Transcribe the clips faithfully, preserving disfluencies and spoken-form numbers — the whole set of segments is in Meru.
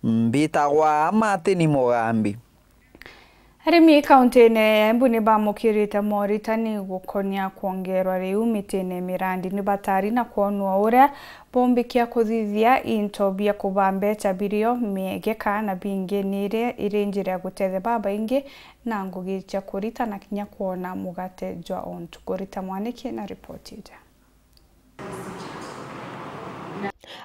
Mbitagwa Martin Mugambi. Arimi kaunti-ini ya Embu ni bamukirite moritani gukonia kwongerwa riu mitine ya mirandi. Ni batari na kwonwa uria bombikia kuthithia into bia kuba mbecha birio miegeka na bingi ni iri iri njira ya gutethia babaingi na ngugi cia kurita na kinya kwona mugate jwa o ntuku. Rita Mwaniki na ripoti ija.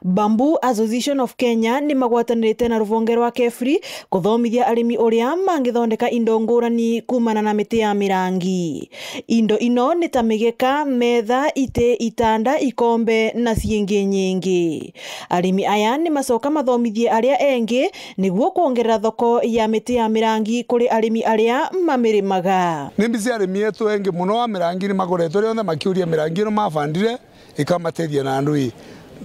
Bamboo Association of Kenya ni magwatanirite na ruvonge rwa KEFRI kuthomithia arimi uria mangithondeka indo ngurani kumana na miti ya mirangi. Indo ino ni ta migeka, metha, iti, itanda, ikombe na ciingi nyingi. Arimi aya ni macoka mathomithie aria engi niguo kwongerera thoko ya miti ya mirangi kuri arimi aria mamirimaga. Ni mbici arimi etu engi mono a mirangi ni makoretwe rionthe makiuria mirangi ino mabandire ikamatethia na ndui.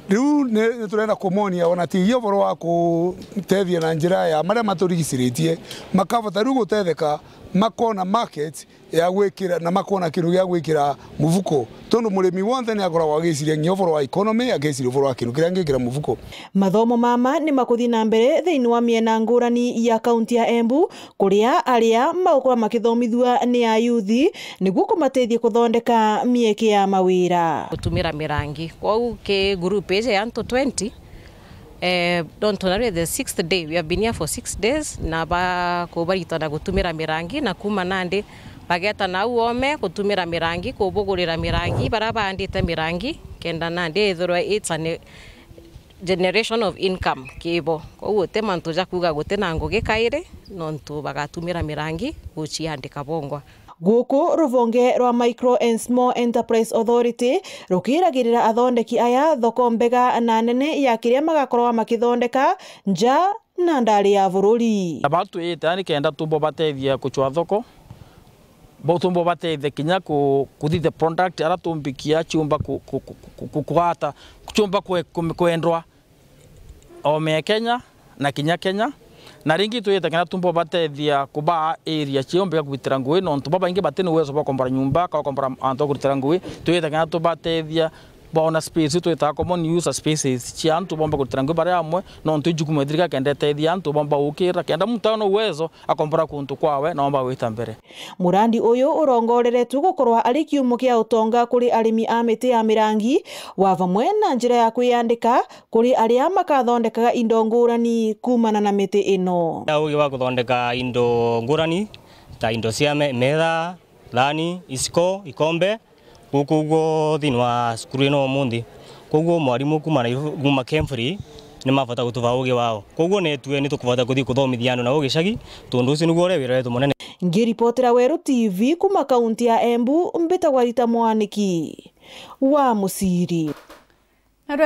Riu ni, ni turenda kumonia ona ti uvoro wa kutethia na njira ya maria maturigiciritie, makavota riu gutetheka, makona market ya gwikira na makona kindu gia gwikira mufuko, tondu murimi wonthe ni akoragwo agiciria nginya uvoro wa economy, agiciria uvoro wa kindu kiria angikira mufuko. Mathomo mama ni makuthii na mbere thiini wa miena ngurani ya kaunti ya Embu, kuria aria magukorwa makithomithua ni ayuthi niguo kumatethia kuthondeka mieke ya mawira. Gutumira mirangi. Kwou ki group iji ya antu twenty, eh, nontu nario the sixth day, we have been here for six days, na ba kubaritana gutumira mirangi, na kuma nandi bageta nau ome gutumira mirangi, kubugurira mirangi, baria baandite mirangi, kenda nandi ithirwe it's an generation of income kibo. Kwou guti mantu ja kuuga guti na ngugi kairi, nontu bagatumira mirangi guciandika bongwa. Guku ruvonge rwa Micro and Small Enterprise Authority rukiragirira athondeki aya thoko mbega na nene ya kiria magakorwa makithondeka nja na ndari ya bururi. Na bau twite ni kenda tumbo batethia kucwa thoko, bo tumbo batethia kinya ku, kuthithia product ara tumbikia ciumba ku, ku, ku, ku, ku, kugata, ciumba kwe, ku, kwendwa ome Kenya na kinya Kenya. Na ringi twite kinya tumbo batethia kubaa area ciumba kugitira ngui, nontu babaingi bati na uwezo bwa kombora nyumba, ka kombora antu a kugitira ngui. Twite kinya tubatethia boona space iu twitaga common user spaces cia antu bomba kurutira ngugi bari amwe, nontu i jukumu ya thirikari kenda itethia antu bomba gukira, kenda muntu aona uwezo akombora kuntu kwawe na omba gwita mbere. Murandi uyu urongoreretwe gukorwa ari kiumo kia utonga kuri arimi a miti ya mirangi, wa vamwe na njira ya kwiyandika kuri aria makathondekaga indo ngurani kumana na miti ino. Na ugi wa kuthondeka indo ngurani ta indo cia me-, metha, thani, iciko, ikombe, guku uguo thiini wa cukuru ino umunthi. Koguo mwarimu kuuma Nairobi, kuuma Kemfrey, ni mabota gutuvaa ugi wao. Koguo netue ni tukubota kuthii kuthomithia andu na ugicagi, tondu ucio niguo uria wira wetu munene. Ngiripotera Weru T V kuuma kaunti ya Embu, mbitagwa Rita Mwaniki wa Muciri. Narua